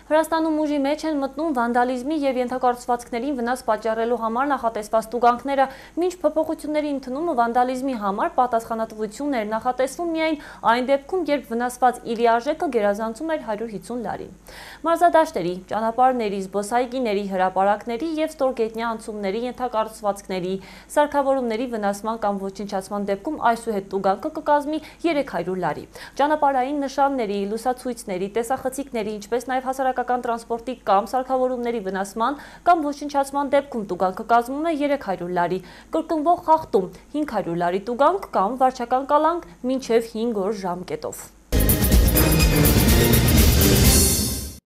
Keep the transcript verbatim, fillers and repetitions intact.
Վրաստանում ուժի մեջ են մտնում վանդալիզմի և ենթակառուցվածքներին վնաս պատճառելու համար նախատեսված տուգանքները, մինչ փոփոխությունների ընդունումը վանդալիզմի համար պատասխանատվություն էր նախատեսվում միայն այն դեպքում, երբ վնասված իրի արժեքը գերազանցում էր հարյուր հիսուն լարի։ Մարզադաշտերի, ճանապարհների, զբոսայգիների, հրապարակների և ստորգետնյա անցումների ենթակառուցվածքների, սարքավորումների վնասման կամ ոչնչացման դեպքում այսուհետ տուգանքը կկազմի երեք հարյուր լարի։ Ճանապարհային նշանների, լուսացույցների, տեսախցիկների, ինչպես նաև հասարակական տրանսպորտի կամ սարքավորումների վնասման կամ ոչնչացման դեպքում տուգանքը կազմում է երեք հարյուր լարի, կրկնվող խախտում հինգ հարյուր լարի տուգանք կամ վարչական կալանք մինչև հինգ օր ժամկետով։